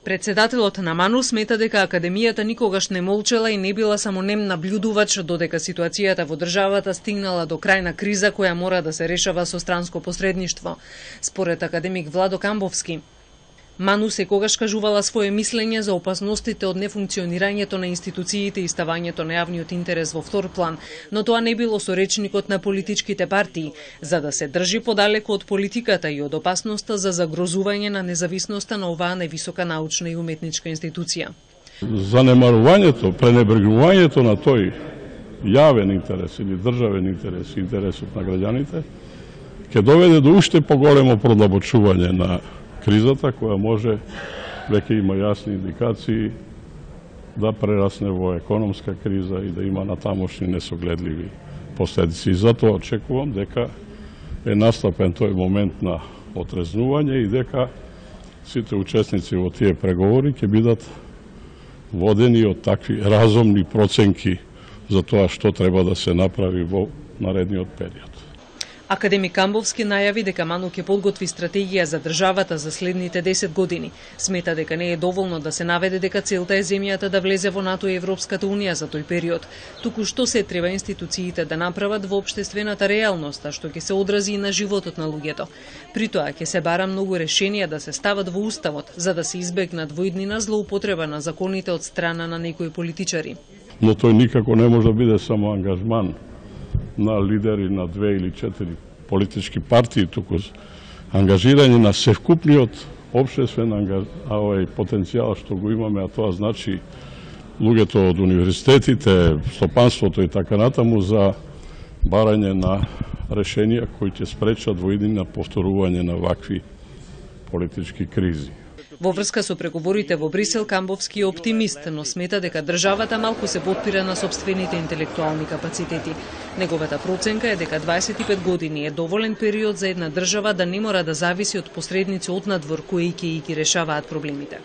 Председателот на МАНУ смета дека Академијата никогаш не молчела и не била само нем наблюдувач, додека ситуацијата во државата стигнала до крајна криза која мора да се решава со странско посредништво. Според академик Владо Камбовски, МАНУ секогаш кажувала свое мислење за опасностите од нефункционирањето на институциите и ставањето на јавниот интерес во втор план, но тоа не било со речникот на политичките партии, за да се држи подалеку од политиката и од опасноста за загрозување на независноста на оваа највисока научна и уметничка институција. Занемарувањето, пренебрегувањето на тој јавен интерес или државен интерес, интересот на граѓаните, ќе доведе до уште поголемо продлабочување на кризата, која може, веќе има јасни индикации, да прерасне во економска криза и да има натамошни несогледливи последици. И затоа очекувам дека е настапен тој момент на отрезнување и дека сите учесници во тие преговори ќе бидат водени од такви разумни проценки за тоа што треба да се направи во наредниот период. Академик Камбовски најави дека МАНУ ќе подготви стратегија за државата за следните 10 години. Смета дека не е доволно да се наведе дека целта е земјата да влезе во НАТО и Европската унија за тој период. Туку што се треба институциите да направат во општествената реалност, а што ќе се одрази и на животот на луѓето. При тоа ќе се бара многу решенија да се стават во уставот, за да се избегнат во иднина злоупотреба на законите од страна на некои политичари. Но тој никако не може да биде само ангажман на лидери на 2 или 4 политички партии, туку ангажирање на севкупниот општествен потенцијал што го имаме, а тоа значи луѓето од универзитетите, стопанството и така натаму за барање на решенија кои ќе спречат во иднина повторување на вакви политички кризи. Во врска со преговорите во Брисел, Камбовски е оптимист, но смета дека државата малку се потпира на сопствените интелектуални капацитети. Неговата проценка е дека 25 години е доволен период за една држава да не мора да зависи од посредници од надвор кои ќе ги решаваат проблемите.